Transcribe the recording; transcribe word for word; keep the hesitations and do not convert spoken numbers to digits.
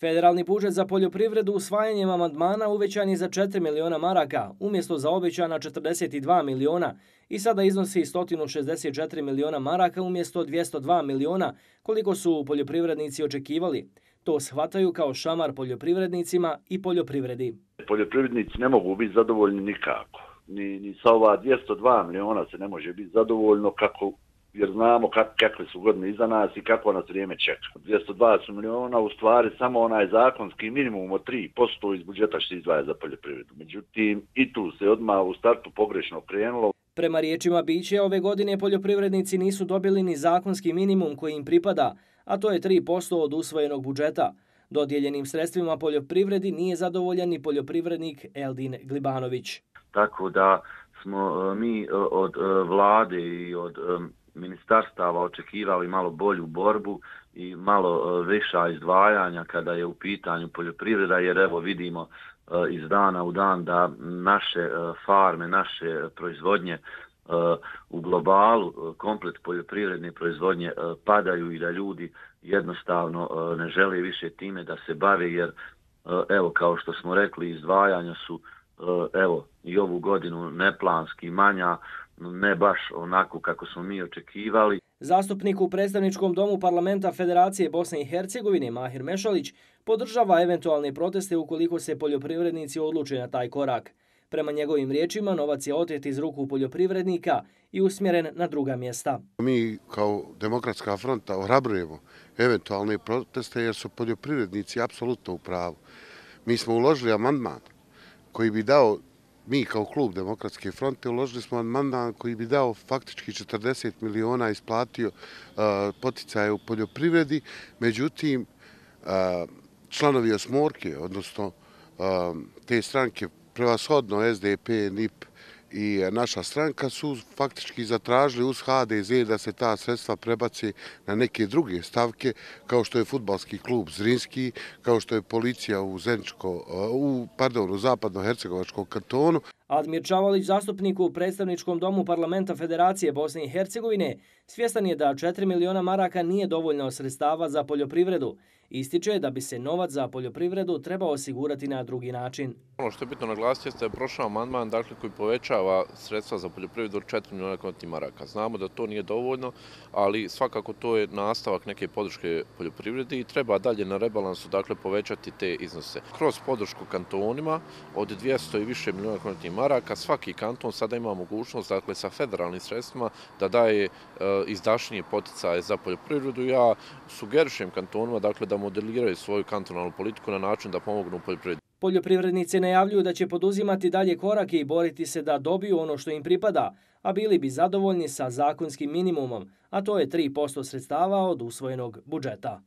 Federalni budžet za poljoprivredu usvajanjem amandmana uvećan je za četiri miliona maraka, umjesto za obećana četrdeset dva miliona i sada iznosi sto šezdeset četiri miliona maraka umjesto dvjesto dva miliona, koliko su poljoprivrednici očekivali. To shvataju kao šamar poljoprivrednicima i poljoprivredi. Poljoprivrednici ne mogu biti zadovoljni nikako. Ni, ni sa ova dvjesto dva miliona se ne može biti zadovoljno kako jer znamo kak, kakve su godine iza nas i kako nas vrijeme čeka. dvjesto dvadeset miliona u stvari samo onaj zakonski minimum od tri posto iz budžeta što se izdvaja za poljoprivredu. Međutim, i tu se odmah u startu pogrešno krenulo. Prema riječima Biće, ove godine poljoprivrednici nisu dobili ni zakonski minimum koji im pripada, a to je tri posto od usvojenog budžeta. Dodijeljenim sredstvima poljoprivredi nije zadovoljan ni poljoprivrednik Eldin Glibanović. Tako da smo mi od vlade i od ministarstava očekivali malo bolju borbu i malo viša izdvajanja kada je u pitanju poljoprivreda, jer evo vidimo iz dana u dan da naše farme, naše proizvodnje u globalu, komplet poljoprivredne proizvodnje padaju i da ljudi jednostavno ne žele više time da se bave, jer evo kao što smo rekli, izdvajanja su evo i ovu godinu neplanski manja, ne baš onako kako smo mi očekivali. Zastupnik u predstavničkom domu parlamenta Federacije Bosne i Hercegovine Mahir Mešalić podržava eventualne proteste ukoliko se poljoprivrednici odluče na taj korak. Prema njegovim riječima, novac je otet iz ruku poljoprivrednika i usmjeren na druga mjesta. Mi kao Demokratska fronta ohrabrujemo eventualne proteste jer su poljoprivrednici apsolutno u pravu. Mi smo uložili amandman koji bi dao, mi kao klub Demokratske fronte uložili smo amandman koji bi dao faktički četrdeset miliona, isplatio uh, poticaje u poljoprivredi, međutim uh, članovi osmorke, odnosno uh, te stranke, prevashodno S D P, N I P i naša stranka su faktički zatražili uz H D Z da se ta sredstva prebace na neke druge stavke, kao što je fudbalski klub Zrinski, kao što je policija u Zeničko, u, pardon, u zapadno-hercegovačkom kantonu. Admir Čavalić, zastupnik u predstavničkom domu parlamenta Federacije Bosne i Hercegovine, svjestan je da četiri miliona maraka nije dovoljno sredstava za poljoprivredu. Ističe da bi se novac za poljoprivredu trebao osigurati na drugi način. Ono što je bitno naglasiti jeste da je prošao amandman dakle, koji povećava sredstva za poljoprivredu od četiri miliona konstantnih maraka. Znamo da to nije dovoljno, ali svakako to je nastavak neke podrške poljoprivredi i treba dalje na rebalansu dakle, povećati te iznose. Kroz podršku kantonima od dvjesto i više miliona konstantnih maraka svaki kanton sada ima mogućnost dakle, sa federalnim sredstvima da daje e, izdašnije poticaje za poljoprivredu. Ja sugerišem kantonima dakle, da modeliraju svoju kantonalnu politiku na način da pomognu poljoprivredi. Poljoprivrednici najavljuju da će poduzimati dalje korake i boriti se da dobiju ono što im pripada, a bili bi zadovoljni sa zakonskim minimumom, a to je tri posto sredstava od usvojenog budžeta.